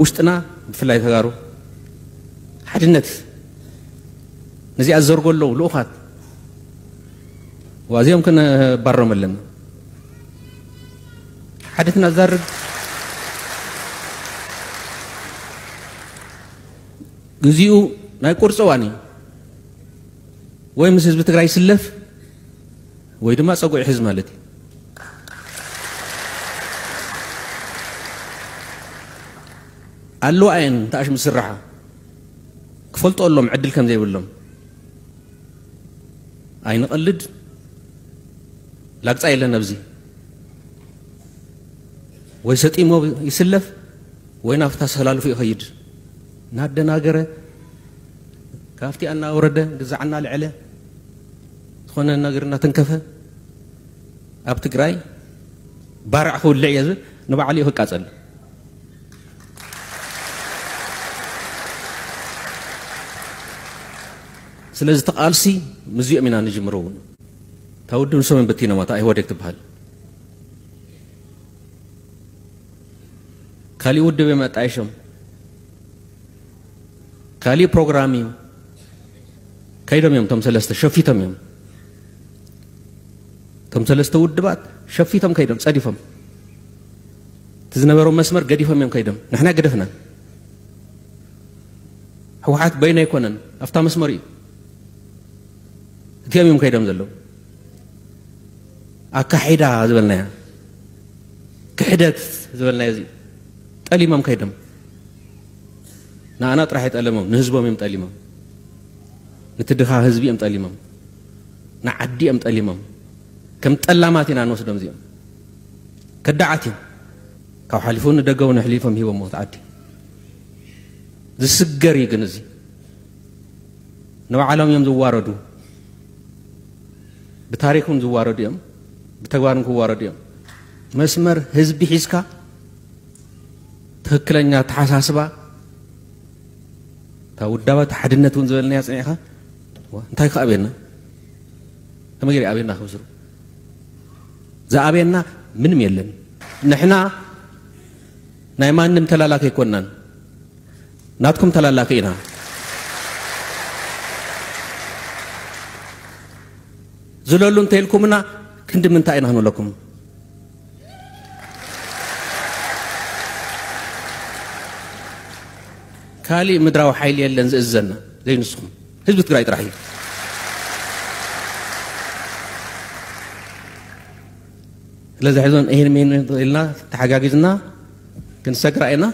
ውሽጥና ብፍላይ ተጋሩ ሓድነት ነዚኣ ዝዘርጎ ኣለዉ ልኡኻት ዋዚኦም ክንባሮም ኣለና። ሓድነትና ዝዛርግ ግዜኡ ናይ ቁርፂ እዋን እዩ። ወይ ምስ ህዝቢ ትግራይ ይስለፍ ወይ ድማ ፀጉዒ ሕዝ ማለት እዩ። ኣለዋ እየን ተኣሽሙ ዝስራሓ ክፈልጦ ኣሎም ዕድል ከም ዘይብሎም ኣይንቐልድ። ላግፃ የለን ኣብዚ ወይ ሰጢሞ ይስለፍ ወይ ናብታ ሰላልፉ ይኸይድ እናደናገረ ካብቲ እናወረደ ግዛዕ እናልዐለ ዝኾነ ነገር እናተንከፈ ኣብ ትግራይ ባርዕ ክውልዕ እየ ዝብል ንባዕሉ እዩ ክቃፀል። ስለዚ ተቓልሲ ምዚኦም ኢና ንጅምሮ እውን እታ ውድብ ንሶምን በቲኖማ እታ ኢህወዴግ ትበሃል ካሊእ ውድብ እዮም ኣጣይሾም ካሊእ ፕሮግራም እዩ ከይዶም እዮም እቶም ሰለስተ ሸፊቶም እዮም እቶም ሰለስተ ውድባት ሸፊቶም ከይዶም ፀዲፎም እቲ ዝነበሮም መስመር ገዲፎም እዮም ከይዶም ንሕና ገደፍናን ህወሓት በይኑ ኣይኮነን ኣብታ መስመር እዩ እቲኦም እዮም ከይዶም ዘለዉ ኣካሒዳ ዝበልናያ ክሕደት ዝበልናዮ እዚ ጠሊሞም ከይዶም ንኣና ጥራሕ ይጠለሞም ንህዝቦም እዮም ጠሊሞም ነቲ ድኻ ህዝቢ እዮም ጠሊሞም ንዓዲ እዮም ጠሊሞም ከም ጠላማት ኢና ንወስዶም እዚኦም ከዳዓት እዮም ካብ ሓሊፉ ንደገ እውን ኣሕሊፎም ሂቦሞ እቲ ዓዲ ዝስገር እዩ ግን እዚ ንባዕሎም እዮም ዝዋረዱ ብታሪክ እውን ዝዋረዱ እዮም ብተግባር እውን ክዋረዱ እዮም መስመር ህዝቢ ሒዝካ ትክክለኛ ኣተሓሳስባ እታ ውዳባት ሓድነት እውን ዝበልናያ ፅኒዕካ እንታይ ክኣብየና ከመይ ገይሩ ኣብየና ክብስሩ ዝኣብየና ምንም የለን ንሕና ናይ ማንም ተላላኪ ኣይኮንናን ናትኩም ተላላኪ ኢና ዝለሉ እንተይልኩምና ክንዲ ምንታይ ኢና ክንብለኩም ካሊእ ምድራዊ ሓይሊ የለን ዝእዘና ዘይንስኹም ህዝቢ ትግራይ ጥራሕ እዩ ስለዚ ሕዞን ይህን ምን ኢልና ተሓጋጊዝና ክንሰግራ ኢና